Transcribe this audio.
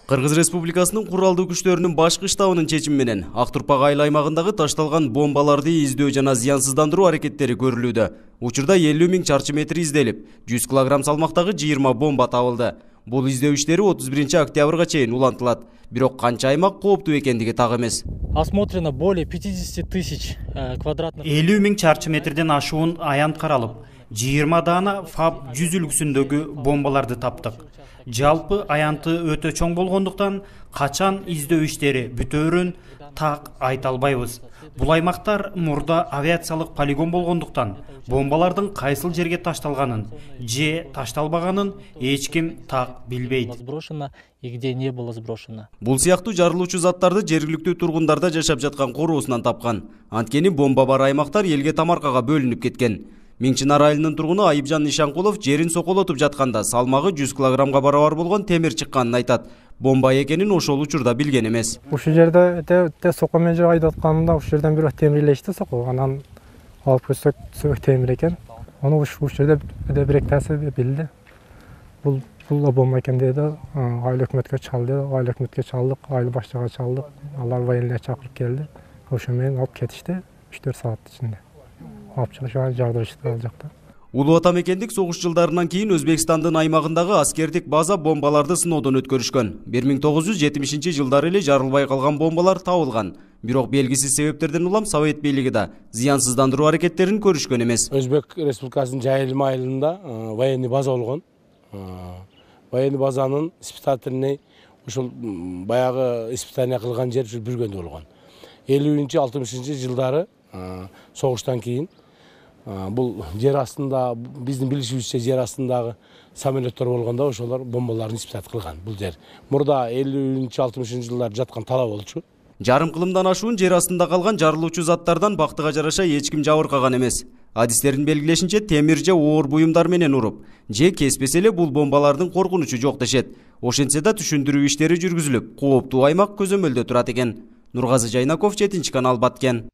Кыргыз Республикасынын куралдуу күчтөрүнүн башкы штабынын чечими менен Актурпак айыл аймагындагы ташталган бомбаларды издөө жана зыянсыздандыруу аракеттери көрүлүүдө. Учурда 50 000 чарчы метр изделип, 100 кг салмактагы 20 бомба табылды. Бул издөө иштери 31 октябрга чейин улантылат. Бирок канча аймак кооптуу экендиги так эмес. Осмотрено более 50 000 квадратных. 50 000 чарчы метрден ашуун аянт каралып, 20 дана ФАБ 100 үлгүсүндөгү бомбаларды таптык. Жалпы аянты өтө чоң болгондуктан качан издөө иштери бүтөөрүн так айта албайбыз. Бул аймактар мурда авиациялык полигон болгондуктан бомбалардын кайсыл жерге ташталганын же ташталбаганын эч ким так билбейт. Сброшено и где не было сброшено. Бул сыяктуу жарылуучу заттарды жергиликтүү тургундарда жашап жаткан короосунан тапкан. Анткени бомба бар аймактар элге тамаркага бөлүнүп кеткен. Миңчинар айылынын тургуну Айыпжан Ишанкулов жерин соколотуп жатканда салмагы 100 кг барабар болгон темир чыкканын айтат. Бомба экенин ошол учурда билген эмес. Ушул жерде сокол менен жок айдап атканымда ушул жерден бирөө темир илешти сокол. Анан алып көрсөк темир экен. Аны ушул жерде бир эктеси билди. Бул бомба экен деди. Айыл өкмөткө чалды. Айыл өкмөткө чалдык, айыл башчыга чалдык. Алар военный чакырып келди. Ошо менен алып кетишти 3-4 саат ичинде. Улуу ата мекендик согуш жылдарынан кийин Өзбекстандын аймагындагы аскердик база бомбаларды сыноодон өткөрүшкөн. 1970 жылдары эле жарылбай калган бомбалар табылган. Бирок белгисиз себептерден улам Совет бийлиги да зыянсыздандыруу аракеттерин көрүшкөн эмес. Өзбек Республикасынын Жайылма айылында военный база болгон. Военный базанын испытательный ушул баягы испытание кылган жер ушул Бүргөндө болгон. 50-60 жылдары согуштан кийин бул жер астында биздин билишибизче жер астындагы самолеттор болгондо ошолор бомбаларын испытат кылган бул жер. Мурда 50-60 жылдар жаткан тала болчу. Жарым кылымдан ашуун жер астында калган жарылуучу заттардан бактыга жараша эч ким жабыркаган эмес. Адистердин белгилешинче темир же оор буюмдар менен уруп, же кеспесе эле бул бомбалардын коркунучу жок дешет. Ошентсе да түшүндүрүү иштери жүргүзүлүп, кооптуу аймак көзөмөлдө турат экен. Нургазы Жайнаков, 7 канал, Баткен.